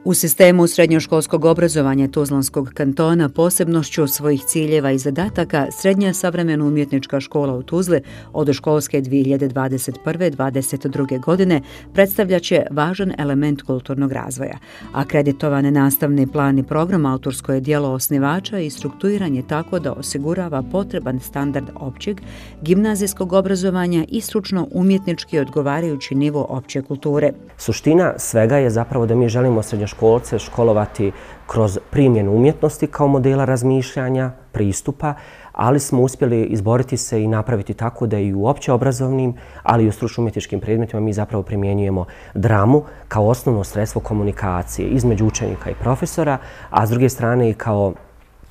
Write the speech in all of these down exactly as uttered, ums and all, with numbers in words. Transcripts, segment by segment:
U sistemu srednjoškolskog obrazovanja Tuzlanskog kantona posebnošću svojih ciljeva i zadataka Srednja savremeno umjetnička škola u Tuzli od školske dvije hiljade dvadeset prve dvadeset druge. godine predstavljaće važan element kulturnog razvoja. Akreditovan nastavni plan i program autorsko je djelo osnivača i strukturiran je tako da osigurava potreban standard općeg, gimnazijskog obrazovanja i stručno umjetnički odgovarajući nivo opće kulture. Suština svega je zapravo da mi želimo srednjoškolce školovati kroz primjenu umjetnosti kao modela razmišljanja, pristupa, ali smo uspjeli izboriti se i napraviti tako da i u opće obrazovnim, ali i u stručno umjetničkim predmetima mi zapravo primjenjujemo dramu kao osnovno sredstvo komunikacije između učenika i profesora, a s druge strane i kao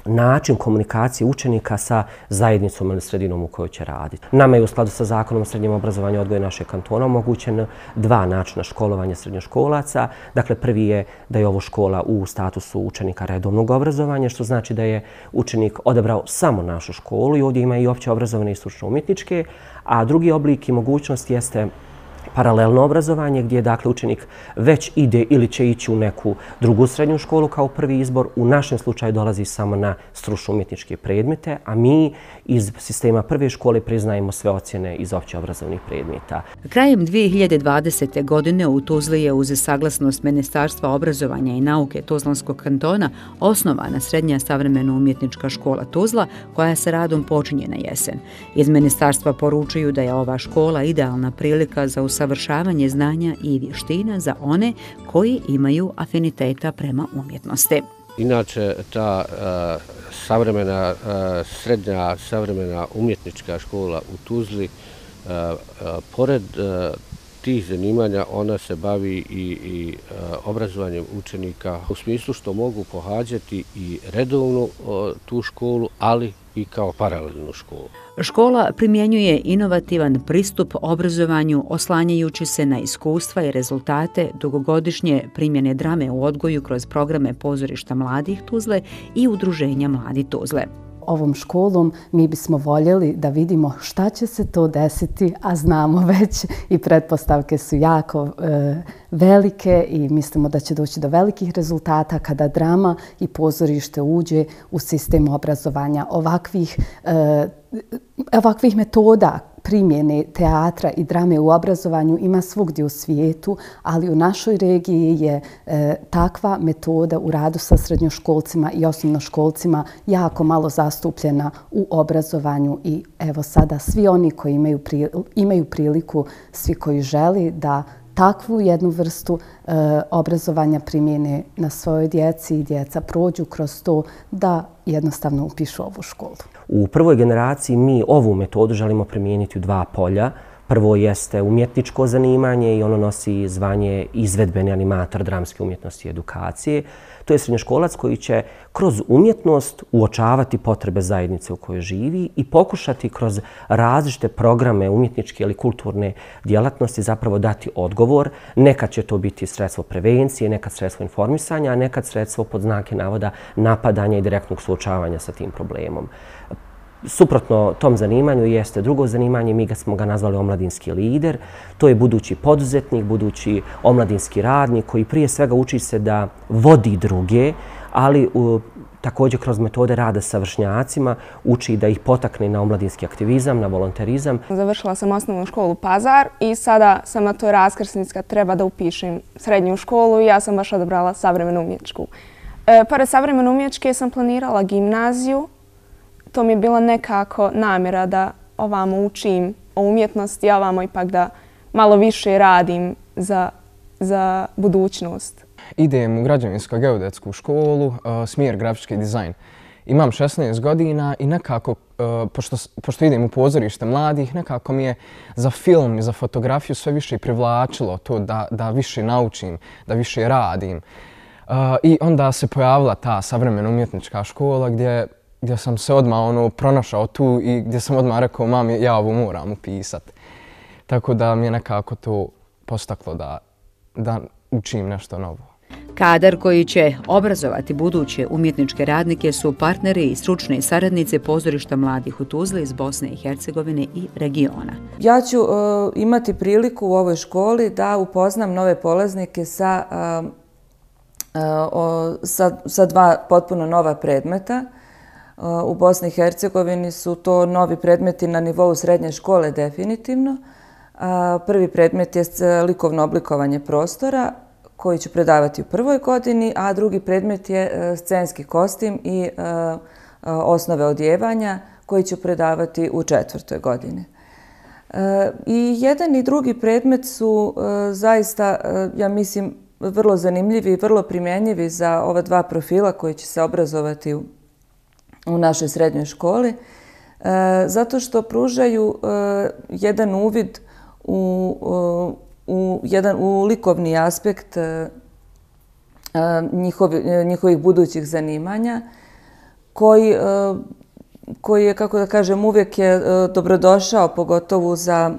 način komunikacije učenika sa zajednicom ili sredinom u kojoj će raditi. Nama je u skladu sa Zakonom o srednjem obrazovanju i odgoju našeg kantona omogućeno dva načina školovanja srednjoškolaca. Dakle, prvi je da je ovo škola u statusu učenika redovnog obrazovanja, što znači da je učenik odabrao samo našu školu i ovdje ima i opće obrazovne i stručno umjetničke, a drugi oblik i mogućnost jeste paralelno obrazovanje gdje dakle učenik već ide ili će ići u neku drugu srednju školu kao prvi izbor. U našem slučaju dolazi samo na stručno umjetničke predmete, a mi iz sistema prve škole priznajemo sve ocjene iz opće obrazovnih predmeta. Krajem dvije hiljade dvadesete. godine u Tuzli je uz saglasnost Ministarstva obrazovanja i nauke Tuzlanskog kantona osnovana Srednja savremeno umjetnička škola Tuzla koja se radom počinje na jesen. Iz ministarstva poručuju da je ova škola idealna prilika za usavršavanje znanja i vještina za one koji imaju afiniteta prema umjetnosti. Inače, ta uh, savremena, uh, srednja savremena umjetnička škola u Tuzli, uh, uh, pored uh, tih zanimanja, ona se bavi i, i uh, obrazovanjem učenika u smislu što mogu pohađati i redovnu uh, tu školu, ali i kao paralelnu školu. Škola primjenjuje inovativan pristup obrazovanju oslanjajući se na iskustva i rezultate dugogodišnje primjene drame u odgoju kroz programe pozorišta mladih Tuzle i udruženja Mladi Tuzle. Ovom školom mi bismo voljeli da vidimo šta će se to desiti, a znamo već i pretpostavke su jako e, velike i mislimo da će doći do velikih rezultata kada drama i pozorište uđe u sistem obrazovanja. Ovakvih, e, ovakvih metoda primjene teatra i drame u obrazovanju ima svugdje u svijetu, ali u našoj regiji je e, takva metoda u radu sa srednjoškolcima i osnovnoškolcima jako malo zastupljena u obrazovanju i evo sada svi oni koji imaju, pri, imaju priliku, svi koji želi da takvu jednu vrstu e, obrazovanja primjene na svojoj djeci i djeca prođu kroz to da jednostavno upišu ovu školu. U prvoj generaciji mi ovu metodu želimo primijeniti u dva polja. Prvo jeste umjetničko zanimanje i ono nosi zvanje izvedbeni animator dramske umjetnosti i edukacije. To je srednjoškolac koji će kroz umjetnost uočavati potrebe zajednice u kojoj živi i pokušati kroz različite programe umjetničke ili kulturne djelatnosti zapravo dati odgovor. Nekad će to biti sredstvo prevencije, nekad sredstvo informisanja, a nekad sredstvo pod znake navoda napadanja i direktnog suočavanja sa tim problemom. Suprotno tom zanimanju jeste drugo zanimanje, mi ga smo ga nazvali omladinski lider. To je budući poduzetnik, budući omladinski radnik koji prije svega uči se da vodi druge, ali u, također kroz metode rada sa vršnjacima uči da ih potakne na omladinski aktivizam, na volonterizam. Završila sam osnovnu školu Pazar i sada sam na toj raskrsnici treba da upišem srednju školu i ja sam baš odabrala savremenu umjetničku. E, pored savremene umjetničke sam planirala gimnaziju. To mi je bila nekako namjera da ovamo učim o umjetnosti, a ovamo ipak da malo više radim za, za budućnost. Idem u građevinsko-geodetsku školu, uh, smjer grafički dizajn. Imam šesnaest godina i nekako, uh, pošto, pošto idem u pozorište mladih, nekako mi je za film i za fotografiju sve više privlačilo to da, da više naučim, da više radim. Uh, I onda se pojavila ta savremena umjetnička škola gdje gdje sam se odmah ono, pronašao tu i gdje sam odmah rekao mami ja ovo moram upisat. Tako da mi je nekako to postaklo da, da učim nešto novo. Kadar koji će obrazovati buduće umjetničke radnike su partneri i stručni saradnici pozorišta mladih u Tuzli iz Bosne i Hercegovine i regiona. Ja ću uh, imati priliku u ovoj školi da upoznam nove polaznike sa uh, sa dva potpuno nova predmeta. U Bosni i Hercegovini su to novi predmeti na nivou srednje škole definitivno. Prvi predmet je likovno oblikovanje prostora koji ću predavati u prvoj godini, a drugi predmet je scenski kostim i osnove odjevanja koji ću predavati u četvrtoj godini. I jedan i drugi predmet su zaista, ja mislim, vrlo zanimljivi i vrlo primjenjivi za ova dva profila koji će se obrazovati u u našoj srednjoj školi, zato što pružaju jedan uvid u, u, jedan, u likovni aspekt njihovi, njihovih budućih zanimanja, koji, koji je, kako da kažem, uvijek je dobrodošao, pogotovo za,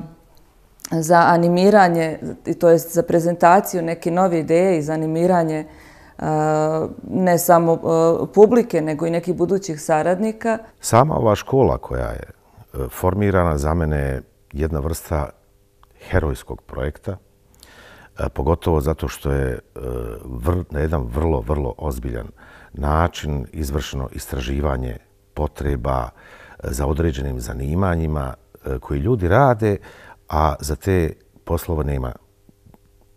za animiranje, to jest za prezentaciju neke nove ideje i za animiranje ne samo publike, nego i nekih budućih saradnika. Sama ova škola koja je formirana za mene je jedna vrsta herojskog projekta, pogotovo zato što je na jedan vrlo, vrlo ozbiljan način izvršeno istraživanje potreba za određenim zanimanjima koji ljudi rade, a za te poslove nema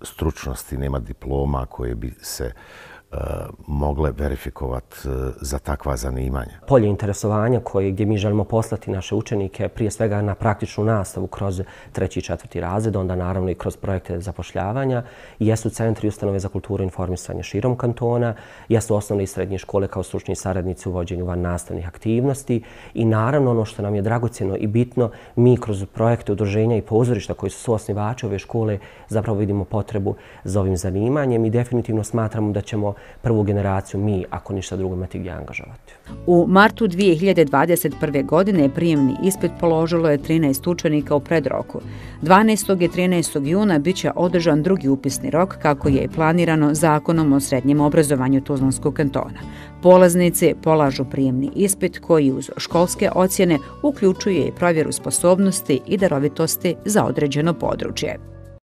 stručnosti, nema diploma koje bi se uh, mogle verifikovati uh, za takva zanimanja. Polje interesovanja koje, gdje mi želimo poslati naše učenike prije svega na praktičnu nastavu kroz treći i četvrti razred, onda naravno i kroz projekte zapošljavanja, jesu centri i ustanove za kulturu i informisanje širom kantona, jesu osnovne i srednje škole kao stručni saradnici u vođenju van nastavnih aktivnosti i naravno ono što nam je dragocjeno i bitno, mi kroz projekte udruženja i pozorišta koji su suosnivači ove škole zapravo vidimo potrebu za ovim zanimanjem i definitivno smatramo da ćemo prvu generaciju mi, ako ništa drugo, imati gdje angažovati. U martu dvije hiljade dvadeset prve. godine prijemni ispit položilo je trinaest učenika u predroku. dvanaestog i trinaestog juna bit će održan drugi upisni rok kako je planirano Zakonom o srednjem obrazovanju Tuzlanskog kantona. Polaznici polažu prijemni ispit koji uz školske ocjene uključuje i provjeru sposobnosti i darovitosti za određeno područje.